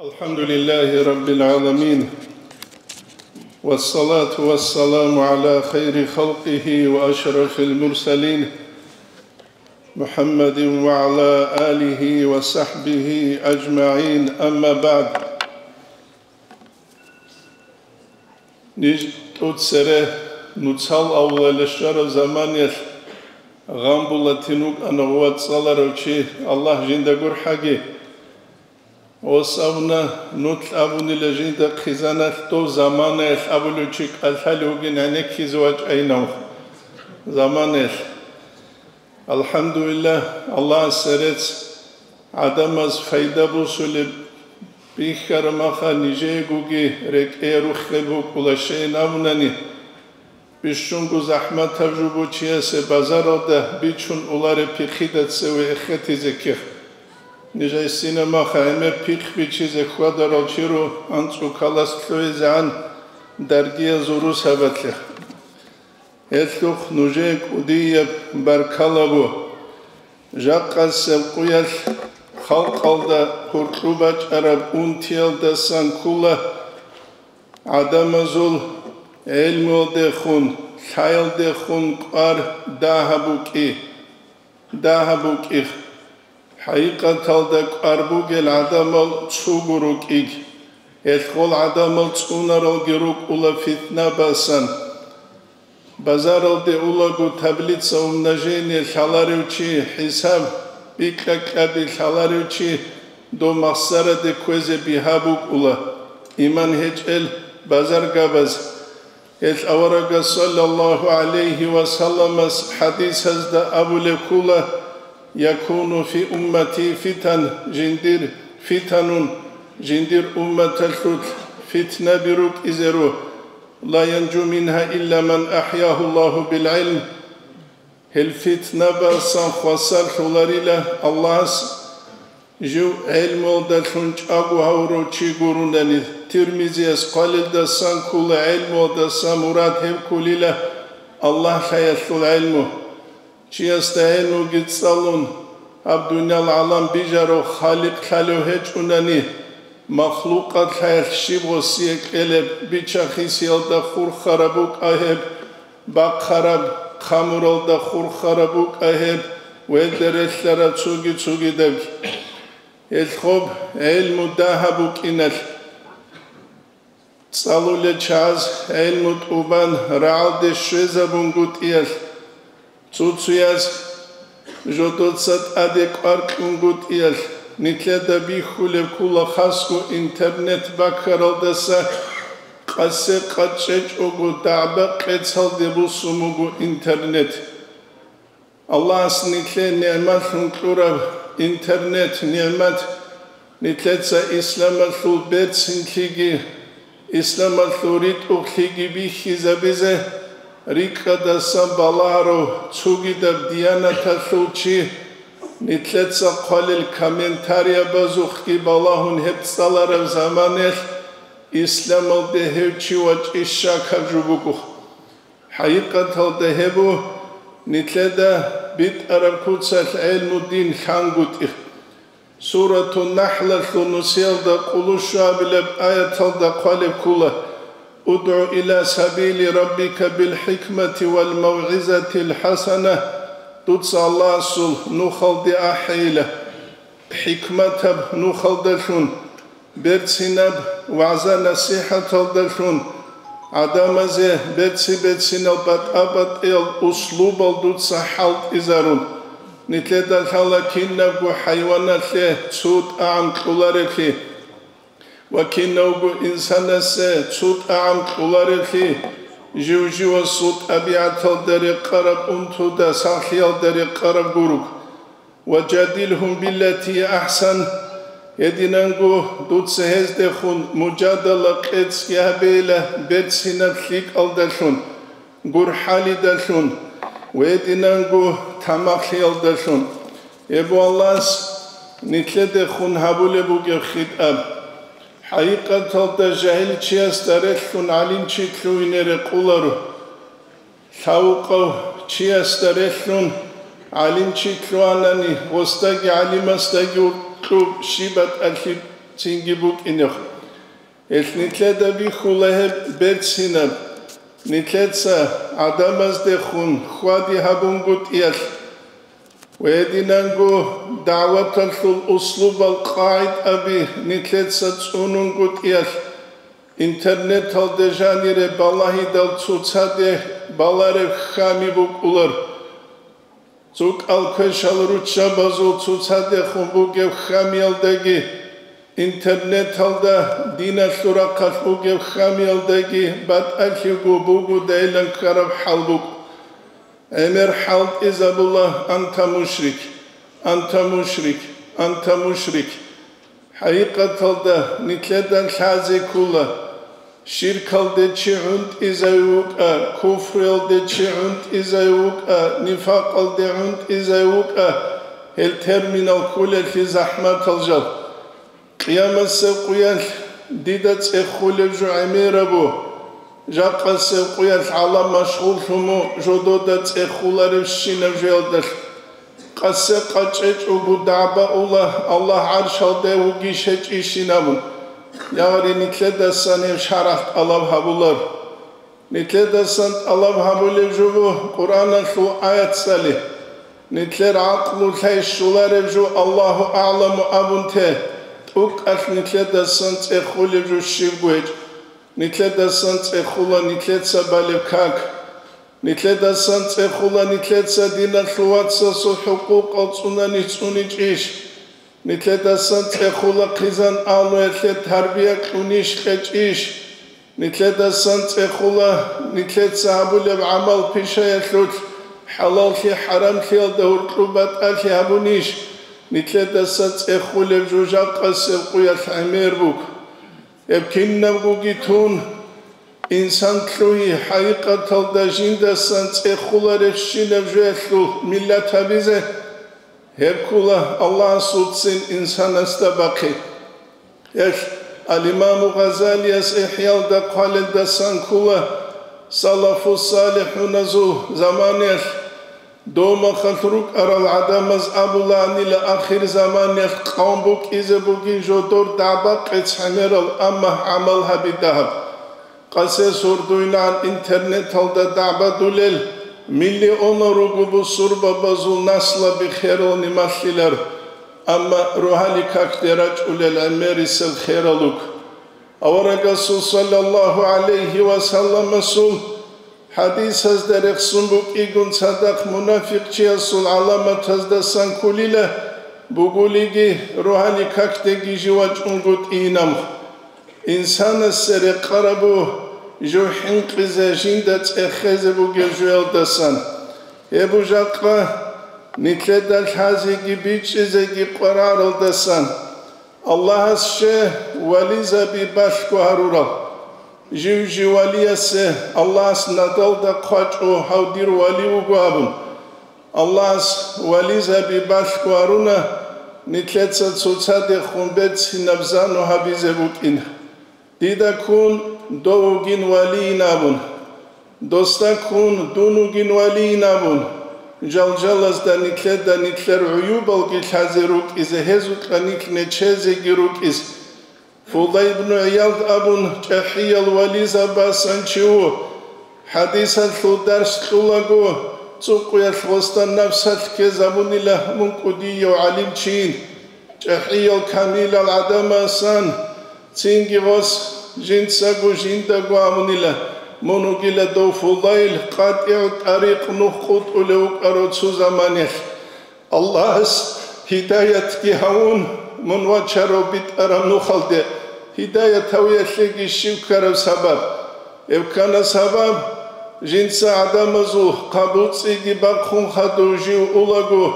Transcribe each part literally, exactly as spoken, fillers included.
الحمد لله رب العالمين، والصلاة والسلام على خير خلقه وأشرف المرسلين، محمد وعلى آله وصحبه أجمعين، أما بعد. Ниж тӀуцере нуцал авлалъе щвараб заманаялъ гъамбулатин вукӀана вацӀцӀаларав чи, Аллагь жинда гурхӀаги. Ос абуна, нуц абунила жинда хъизаналъ дов заманаялъ абулев чи кӀалъалев вугин гӀенеккизе вачӀайинав заманаялъ. АлхӀамдулиллагь, Аллагьасе рецц, гӀадамаз пайда босулеб бихьараб маха нижеегоги рекӀее руххел букӀула, щайин абунани, бищунго захӀматаб жо бу чиясе базаралда бичун улареб пихъида цеве эхетизе ккех. Ниж гьайсина маха гӀемер пихъ бичизе хьвадарал чи ру анцӀукалас лъугӀизегӀан даргиязул русабалъе. Гьелъухъ нужее кӀудияб баркала бу. Жакъасеб къуялъ халкъалда гьуркьу бачӀараб унтиялдасан ккола гӀадамазул гӀелмуялдехун, лъаялдехун кӀвар дагьаб букӀи, дагьаб букӀихъ. ХӀакъикъаталда кӀвар бугел гӀадамал цугу рукӀиг, гьелъ гъол гӀадамал цӀунаралги рукӀула фитна басан. Базаралде улаго таблица умножения лъаларев чи, хӀисаб бикьа-кьаби лъаларев чи дов махсараде кквезе бигьа букӀула, иман гьечӀел базаргабаз. Гьелъ аварагас саллаллагьу гӀалайгьи ва салламас хӀадисазда абулеб ккола: «Якуну фи уммати фитан», жиндир фитанун, жиндир умматалъулъ фитнаби рукӀизе ру, «ла янжу мингьа илла ман ахӀягьу Аллагьу бил гӀилм». Гьел фитнабасан хвасарлъуларила Аллагьас жив гӀелмуялдалъун чӀаго гьавурав чи гурунани. Тирмизияс хъвалелдасан ккола гӀелмуялдаса мурад гьеб кколила Аллагь лъаялъул гӀелму. Чиясда гьенивги цӀалун, гьаб дуниял гӀалам бижарав Халикъ лъалев гьечӀунани, махлукъат лъаялъ щиб гъосие кьелеб, бича-хисиялда хурхараб букӀа гьеб, бахъараб, хъамуралда хурхараб букӀа гьеб, велда релълъараб цоги-цогидабги. Гьелъ гъоб гӀелму дагьаб букӀиналъ. ЦӀалулел чагӀаз гӀелму тӀубан рагӀалде щвезабунгутӀиялъ, цо-цояз жодоца тӀаде кӀвар кьунгутӀиялъ, нилъеда бихьулеб ккола хасго интернет баккаралдаса. Къасе къачӀечӀого дагӀба-къецалде бусун буго интернет. Аллагьас нилъее нигӀматлъун кьураб интернет-нигӀмат, нилъеца исламалъул берцинлъиги, исламалъул ритӀухълъиги бихьизабизе, рикӀкӀадасан балагьарав цогидаб диянаталъул чи, нилъеца хъвалел комментариябазухъги балагьун гьеб цӀалараб заманаялъ, исламалде гьев чи вачӀищ щакаб жо буго. ХӀакъикъаталда гьеб бу нилъеда битӀараб куцалъ гӀелму дин лъангутӀи. Суратун-Нахлалъул нусиялда къулущуабилеб аяталда хъвалеб ккола: «УдгӀу иля сабили раббика бил хӀикмати вал мавгӀизатил хӀасана», дуца Аллагьасул нухалде ахӀейила. ХӀикматаб нухалдалъун, берцинаб вагӀза-насихӀаталдалъун, гӀадамазе берци-берцинал батӀа-батӀиял услубал дуца хӀалтӀизарун. Нилъеда лъала кинабго хӀайваналъе цо тӀагӀам кьолареблъи ва кинавго инсанасе цо тӀагӀам кьолареблъи, жив-живасул тӀабигӀаталда рекъараб, унтуда, сахлъиялда рекъараб гуруг. «Ва жадилгьум биллати ахӀсан», гьединанго дуца гьездехун мужадала къецӀги гьабейила берцинаб лъикӀалдалъун, гурхӀалидалъун ва гьединанго тамахлъиялдалъун. Гьеб Аллагьас нилъедехун гьабулеб бугеб хитӀаб. ХӀакъикъаталда жагьил чиясда релълъун гӀалимчи лъугьине рекъоларо. Лъавукъав чиясда релълъун гӀалимчи лъугьанани, гъосдаги гӀалимасдаги укьуб щиб батӀалъи цинги букӀинехъ. Гьелъ нилъеда бихьула гьеб берцинаб, нилъеца гӀадамаздехун хьвади гьабунгутӀиялъ ва гьединанго дагӀваталъул услубал къагӀидаби нилъеца цӀунунгутӀиялъ, интернеталде жанире балагьидал цоцаде балареб хьами букӀулар. ЦукӀал квешал руччабазул цоцадехун бугеб хьамиялдаги, интернеталда диналъул рахъалъ бугеб хьамиялдаги батӀалъиго бугодайилан ккараб хӀал букӀ. ГӀемер хӀалтӀизабула: «Анта мушрик, анта мушрик, анта мушрик». ХӀакъикъаталда нилъеда лъазе ккола, ширкалде чи гӀунтӀизай вукӀа, куфруялде чи гӀунтӀизай вукӀа, нифакъалде гӀунтӀизай вукӀа, гьел терминал кколелъи захӀматал жал. Къиямасеб къуялъ дида цӀехулеб жо гӀемерабу, жакъасеб къуялъ гӀалам машгъуллъун мун жодода цӀехуларебщинаб жоялдалъ. Къасе къачӀечӀого дагӀба ула Аллагь гӀаршалда вугищ гьечӀищин абун, ягъри нилъедасан гьеб шаргӀалъ тӀалаб гьабулар. Нилъедасан тӀалаб гьабулеб жо буго Къуръаналъул аятцали. Нилъер гӀакълу лъай щолареб жо «Аллагьу агӀламу» абун те, тӀукӀалъ нилъедасан цӀехулеб жо щибго гьечӀ. Нилъедасан цӀехула нилъеца балеб как. Нилъедасан цӀехула нилъеца диналъул вацасул хӀукъукъал цӀунанищ цӀуничӀищ. Нилъедасан цӀехула хъизан-агьлуялъе тарбия кьунищ кьечӀищ. Нилъедасан цӀехула нилъеца гьабулеб гӀамал-пишаялъулъ хӀалаллъи-хӀарамлъиялда гьуркьу батӀалъи гьабунищ. Нилъедаса цӀехулеб жо жакъасеб къуялъ гӀемер буго. Гьеб кинабгоги тун, инсан лъугьи хӀакъикъаталда жиндасан цӀехуларебщинаб жоялъул миллат гьабизе, гьеб ккола Аллагьасулцин инсанасда бахъи. Гьелъ ал-Имаму Гъазалияс ИхӀялда хъвалелдасан ккола, салафу-салихӀуназул заманаялъ, Дов махалъ рукӀарал гӀадамаз абулаанила ахирзаманиялъ къавм букӀизе бугин жодор дагӀба-къец гӀемерал, амма гӀамал гьаби дагьаб. Къасе сордуйнан интернеталда дагӀбадулел миллионал руго бусурбабазул наслаби херални малъилар, амма рогьалил какде рачӀулел гӀемерисел херал руго. Аварагасул саллаллагьу гӀалайгьи ва салламасул хӀадисазда рехсон букӀигун цадахъ мунафикъчиясул гӀаламатаздасан кколила, бугулиги, рогьалил какдеги жив вачӀунгутӀинамха. Инсанасе рекъарабу жив хӀинкъизе жинда цӀехезе бугеб жоялдасан. Гьеб жакъа нилъеда лъазеги бичӀчӀизеги къвараралдасан. Аллагьас ще вализаби балъго гьарурал. Жив-жив валиясе Аллагьас надалда хъвачӀо гьав дир вали вуго абун. Аллагьас вализаби балъго гьаруна, нилъеца цоцадехун берцинаб зану гьабизе букӀин. Дида ккун дов вугин валийин абун, досда ккун дун вугин валийин абун, жалжалазда нилъеда нилъер гӀуюбалги лъазе рукӀизе, гьезукьа нилъ нечезеги рукӀиз. Фудай ибну ГӀиялд абун чӀахӀиял вализабасан чи ву. ХӀадисалъул дарс кьулаго, цӀукъуялъ гъосда напсалъ ккезабунила мун кӀудияв гӀалимчийин. ЧӀахӀиял камилал гӀадамасан цинги гъос жинцаго жиндаго абунила, мун вугила дов Фудайл, къатӀигӀу тӀарикъ, нух къутӀулев вукӀарав цо заманиялъ. Аллагьас гьидаятги гьавун, мун вачарав битӀараб нухалде гьидаят гьавиялъеги щив ккараб сабаб? Гьеб ккана сабаб, жинца гӀадамазул хъабуцӀиги бахъун хадув жив улаго,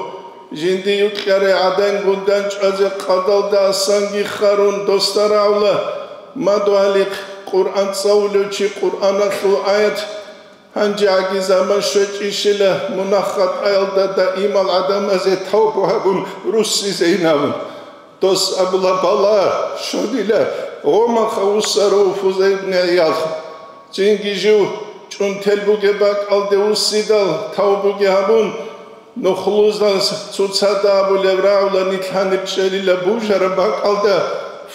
жинди юкьарай гӀадангун данчӀвазе къадалда асанги харун досда рагӀула, мадугьалихъ Къуръан цӀалулев чи Къуръаналъул аят, гьанже гӀаги заман щвечӀищила мунагь-хатӀаялда даимал гӀадамазе тавбу гьабун руссизейин абун. Дос абула, бала, щодила, гъомаха вуссарав Фудай ибн ГӀиялха. Цинги жив чӀунтел бугеб бакӀалде вуссидал тавбуги гьабун, нухлузал цоцада абулеб рагӀула нилъ гьаниб чӀелила бужараб бакӀалда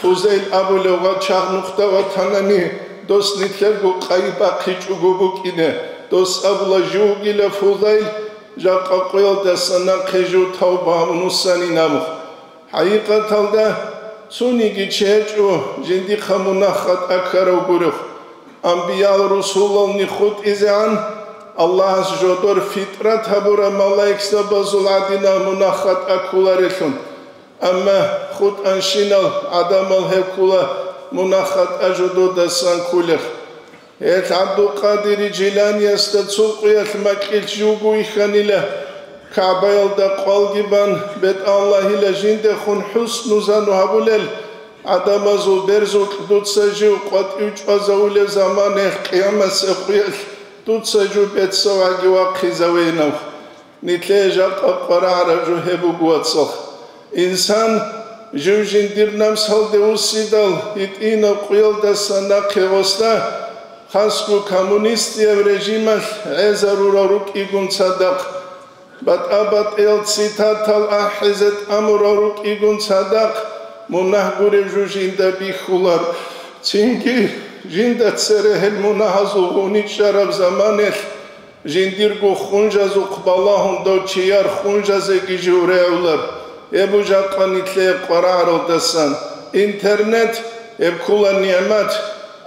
Фузайл абулев гъачагъ нухда ватанани, дос нилъерго къайи бахъичӀого букӀине. Дос абула, жив вугила Фузайл, жакъа къуялдаса нахъе жив тавба гьабун вуссанин абун. ХӀакъикъаталда, цониги чи гьечӀо жиндихъа мунагь-хатӀа ккарав гурев. Амбиял-русулални хутӀизегӀан, Аллагьас жодор фитрат гьабураб малаикзабазул гӀадинал мунагь-хатӀа кколарелъун. Амма хутӀанщинал гӀадамал гьеб ккола мунагь-хатӀа жододасан кколеб. Гьел ГӀабдулкъадири Жиланиясда цо къуялъ макьилъ живго вихьанила, КагӀбаялда къвалги бан, бетӀаллагьила жиндехун хӀусну-зану гьабулел гӀадамазул берзукь дуца жив къватӀив чӀвазавулеб заман гьел къиямасеб къуялъ дуца жив бецаваги вахъизавейнав. Нилъее жакъа къварагӀараб жо гьеб буго, вацал. Инсан жив жиндир намсалде вуссидал гьитӀинаб къуялдаса нахъе гъосда, хасго коммунистияб режималъ гӀезарурал рукӀигун цадахъ, батӀа-батӀиял цитатал ахӀизе тӀамурал рукӀигун цадахъ, мунагь гуреб жо жинда бихьулар. Цинги жинда цере гьел мунагьазул гъуничӀараб заманалъ, жиндирго хунжазухъ балагьун дов чияр хунжазеги жив регӀулар, гьеб жакъа нилъее къварагӀаралдасан. Интернет, гьеб ккола нигӀмат,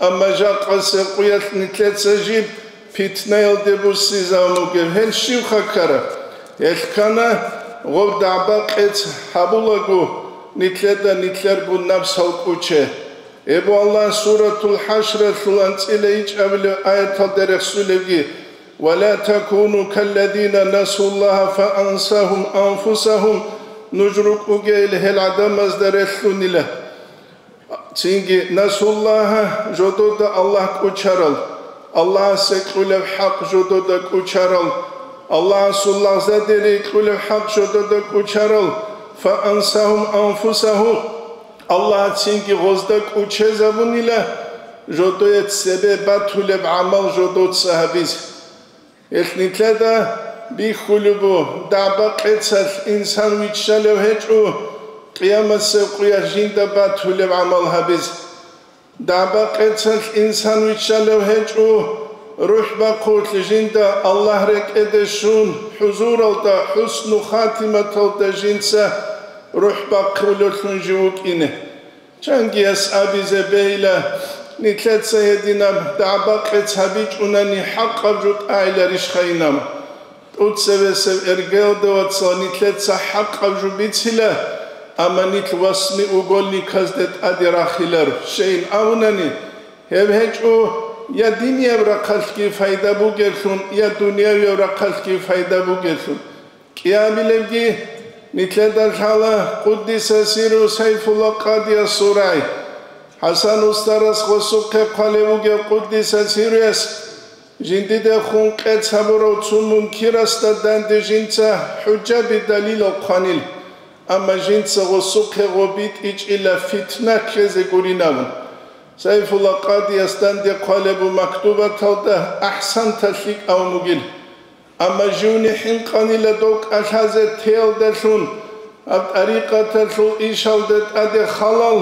амма жакъасеб къуялъ нилъеца жиб питнаялде буссизавун бугеб гьел щибха ккараб? Гьел ккана, гъоб дагӀба-къец гьабулаго, нилъеда нилъерго напсал кӀуче. Гьеб Аллагь Суратул ХӀашралъул анцӀила ичӀабилеб аяталда рехсулебги: «Ва ла такуну калладина насуллагьа фаансагьум анфусагьум», нуж рукӀугейил гьел гӀадамазда релълъунила. Цинги насуллагьа, жодода Аллагь кӀучарал, Аллагьасе кьулеб хӀакъ жодода кӀучарал, Аллагьасул лагъзадере кьулеб хӀакъ жодода кӀучарал, фаансагьум анфусагьум, Аллагьас цинги гъозда кӀучезабунила жодое цебе батулеб гӀамал жодоца гьабизе. Гьелъ нилъеда бихьулеб буго, дагӀба-къецалъ инсан виччалев гьечӀо, къиямасеб къуялъ жинда батулеб гӀамал гьабизе. ДагӀба-къецалъ инсан виччалев гьечӀо, рухӀ бахъулъ жинда Аллагь рекӀеде щун, хӀузуралда, хӀусну хатиматалда жинца рухӀ бахъулевлъун жив вукӀине. Чангияс абизе бейла, нилъеца гьединаб дагӀба-къец гьабичӀунани хӀакъаб жо тӀайиларищха инаб? ТӀуцевесев эргелде, вацал, нилъеца хӀакъаб жо бицила, амма нилъ восьмиугольниказда тӀаде рахиларо, щейин абунани, гьеб гьечӀо я динияб рахъалъги пайда бугеблъун, я дуниявияб рахъалъги пайда бугеблъун. КӀиабилебги, нилъеда лъала Къуддиса сиру Сайфулла къадиясул рагӀи. ХӀасан устарас гъосухъе хъвалеб бугеб Къуддиса сируяс, жиндидехун къец гьабурав цо мункирасда данде жинца хӀужжаби далилал хъванил, амма жинца гъосухъе гъоб битӀичӀила фитна ккезе гурин абун. Сайфулла къадияс данде хъвалеб бу мактубаталда ахӀсанта лъикӀав мугил. Амма живни хӀинкъанила дов кӀалъазе теялдалъун, гьаб тӀарикъаталъул ишалде тӀаде халал,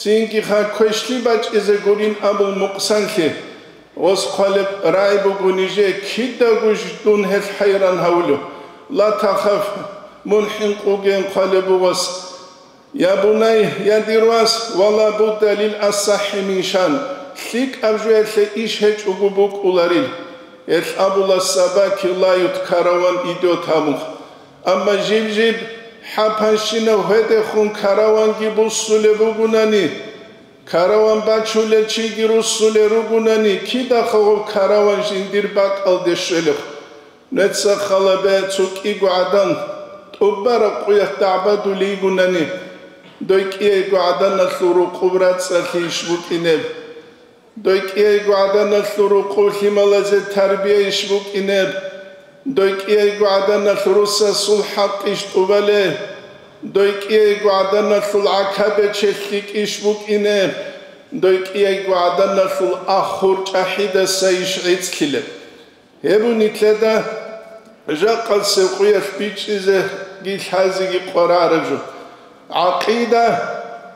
цинги ха квешлъи бачӀизе гурин абул мукъсанлъи. Гъос хъвалеб рагӀи буго нижее кидаго ж-, дун гьелъ хӀайран гьавулев. Ла тахаф, мун хӀинкъугейин хъвалеб бугъос. Я бунай, я дир вас, ва ла будда лил асахӀи мин шан, лъикӀаб жоялъе иш гьечӀого букӀуларил. Гьелъ абула сабаки лают караван идет гьабун. Амма жиб-жиб хӀапанщинав гьедехун караванги буссулеб бугунани, караван бачулел чиги руссулел ругунани, кидахъа гъоб караван жиндир бакӀалде щвелеб? Нуца халабе цо кӀиго гӀадан тӀубараб къуялъ дагӀбадулей йигунани, дой кӀиябго гӀаданалъул рукъуб рацӀцӀалъи иш букӀинеб? Дой кӀиябго гӀаданалъул рукъуб лъималазе тарбия иш букӀинеб? Дой кӀиябго гӀаданалъ русасул хӀакъ иш тӀубалеб? Дой кӀиябго гӀаданалъул гӀакабе челъикӀ иш букӀинеб? Дой кӀиябго гӀаданалъул ахур чӀахӀидаса иш гӀицӀлъилеб? Гьеб нилъеда жакъасеб къуялъ бичӀчӀизеги лъазеги къварараб жо. ГӀакъида,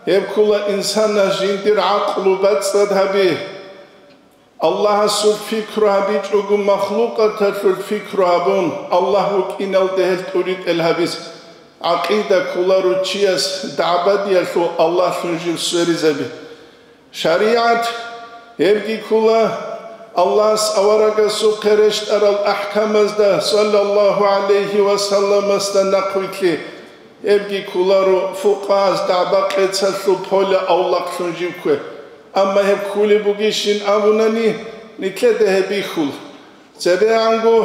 Гьеб ккола инсанас жиндир гӀакълу бацӀцӀад гьаби. Аллагьасул пикру гьабичӀого махлукъаталъул пикру гьабун, Аллагь вукӀиналде гьел тӀуритӀел гьабизе. ГӀакъида кколаро чияс дагӀбадиялъул Аллагьлъун жив сверизаби. ШаригӀат, гьебги ккола Аллагьас аварагасухъе рещтӀарал ахӀкамазда, саллаллагьу гӀалайгьи ва салламасда, нахъвилълъи, гьебги кколаро фукъагьаз дагӀба-къецалъул пола авлахълъун жив ккве. Амма гьеб кколеб бугищин абунани, нилъеда гьеб бихьула. ЦебегӀанго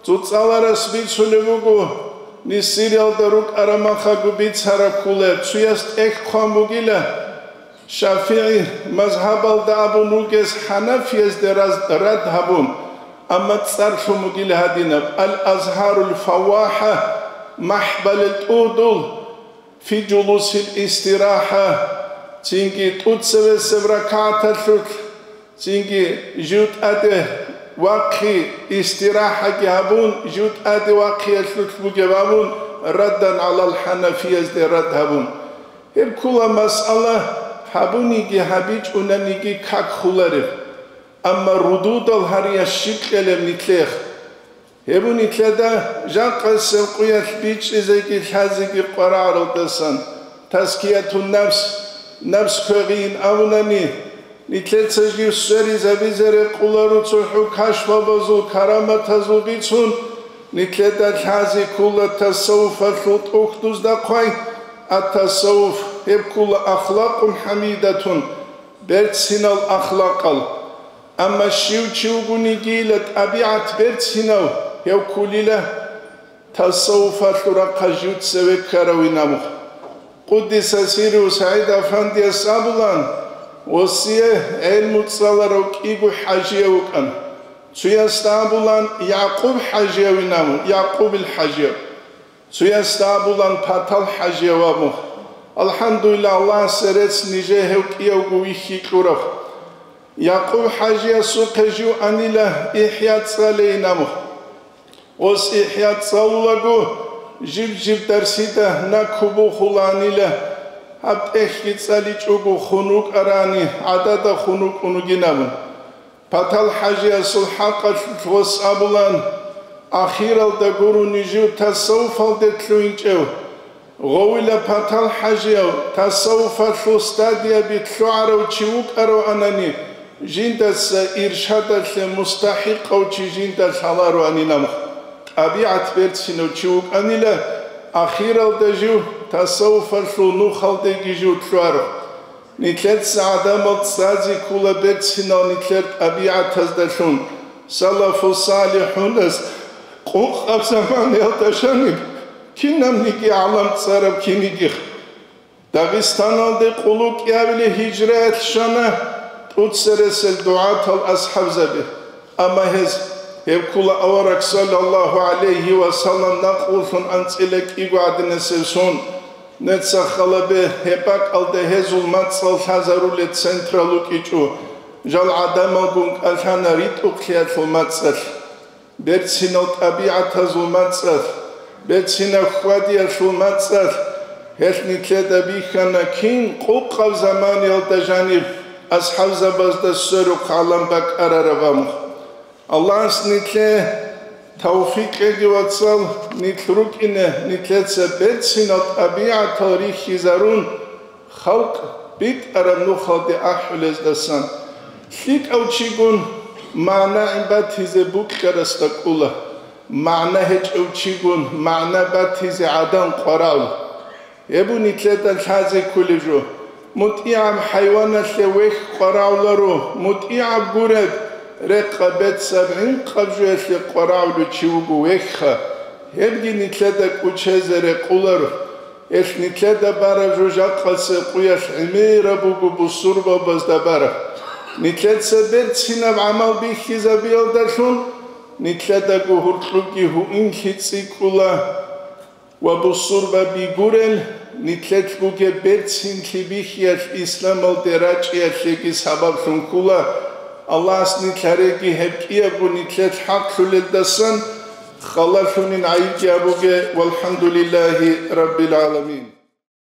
цоцӀаларас бицунеб буго, Мисириялда рукӀараб мехалъго бицараб кколеб, цояс тӀехь хъван бугила, ШафигӀи мазгьабалда абун ругес хӀанафиязде раз-, рад гьабун, амма цӀар лъун бугила гьадинаб: «Ал-Азгьарул Фаввахьа», махӀбалел тӀугьдул, «Фи жулусил истирахӀа», цинги тӀуцевесеб ракагӀаталъулъ, цинги жив тӀаде вахъи, истирахӀаги гьабун, жив тӀаде вахъиялъулъ бугеб абун, раддан гӀалал хӀанафиязде рад гьабун. Гьеб ккола масъала гьабуниги гьабичӀунаниги как хулареб, амма рудудал гьарияс щиб кьелеб нилъехъ? Гьеб нилъеда жакъасеб къуялъ бичӀчӀизеги лъазеги къварагӀаралдасан, тазкиятун-нафс, напс квегъин абунани, нилъеца жив сверизабизе рекъоларо цохӀо кашфабазул, караматазул бицун, нилъеда лъазе ккола тасаввуфалъул тӀухьдузда хъвай, ат-тасаввуф, гьеб ккола ахлакъун хӀамидатун, берцинал ахлакъал. Амма щив чи вугонигийила тӀабигӀат берцинав, гьев кколила тасаввуфалъул рахъалъ жив цеве ккаравинаб. Къуддиса сирругьу СагӀид Афандияс абулан, осие гӀелму цӀаларав кӀиго хӀажияв вукӀана. Цоясда абулан Якъуб хӀажиявинаб, Якъубил хӀажияв. Цоясда абулан Патал хӀажияв абун. АлхӀамдулиллагь, Аллагьасе рецц нижее гьев кӀиявго вихьи кьураб. Якъуб хӀажиясухъе жив анила ИхӀя цӀалейин абун. Ос ИхӀя цӀалулаго, жиб-жиб дарсида наккубухуланила, гьаб тӀехьги цӀаличӀого хун рукӀарани, гӀадада хун рукӀун ругин абун. Патал хӀажиясул хӀакъалъулъ гъос абулан, ахиралда гурони жив тасаввуфалде лъугьинчӀев. Гъовила Патал хӀажияв тасаввуфалъул стадияби лъугӀарав чи вукӀараванани, жиндаса иршадалъе мустахӀикъав чи жинда лъалароанинаб. ТӀабигӀат берцинав чи вукӀанила, ахиралда жив тасаввуфалъул нухалдеги жив лъугӀарав. Нилъеца гӀадамал цӀазе ккола берцинал нилъер тӀабигӀатаздалъун, салафу салихӀунас къокъаб заманаялда жаниб кинабниги гӀалам цӀараб кинигих. Дагъистаналде къуллукъ кӀиабилеб гьижраялъ щвана тӀуцересел дугӀатал асхӀабзаби. Амма гьез, гьеб ккола авараг саллаллагьу гӀалайгьи ва саллам накълулъун анцӀила кӀиго гӀадинасеб сон, нецахъ гьалабе гьеб бакӀалда гьезул мацӀал лъазарулел централ рукӀичӀо, жал гӀадамалгун кӀалъана ритӀухълъиялъул мацӀалъ, берцинал тӀабигӀатазул мацӀалъ, берцинаб хьвадиялъул мацӀалъ. Гьелъ нилъеда бихьана кин къокъаб заманиялда жаниб асхӀабзабазда сверухъ гӀалам бакӀарараб амру. Аллагьас нилъее тавфикъ кьеги, вацал, нилъ рукӀине нилъеца берцинал тӀабигӀатал рихьизарун, халкъ битӀараб нухалде ахӀулездасан. ЛъикӀав чигун магӀна гӀин батизе букьарасда кӀула, магӀна гьечӀев чигун магӀна батизе гӀадан къварал. Гьеб нилъеда лъазе кколеб жо. МутӀигӀаб хӀайваналъе вехь къварагӀуларо, мутӀигӀаб гуреб, рекъа бецаб гӀинкъаб жоялъе къварагӀулев чи вуго вехьха, гьебги нилъеда кӀучезе рекъоларо. Гьелъ нилъеда бараб жо жакъасеб къуялъ гӀемераб буго бусурбабазда бараб. Нилъеца берцинаб гӀамал бихьизабиялдалъун нилъедаго гьуркьубги гьуинлъи цӀикӀкӀула. Ва бусурбаби гурел, нилъелъ бугеб берцинлъи бихьиялъ исламалде рачӀиялъеги сабаблъун ккула. Аллагьас нилъ гьареги гьеб кӀиябго нилъелъ хӀакълъулелдасан халалъунин гӀайибги абуге, валхӀамдулиллагьи раббил гӀаламин.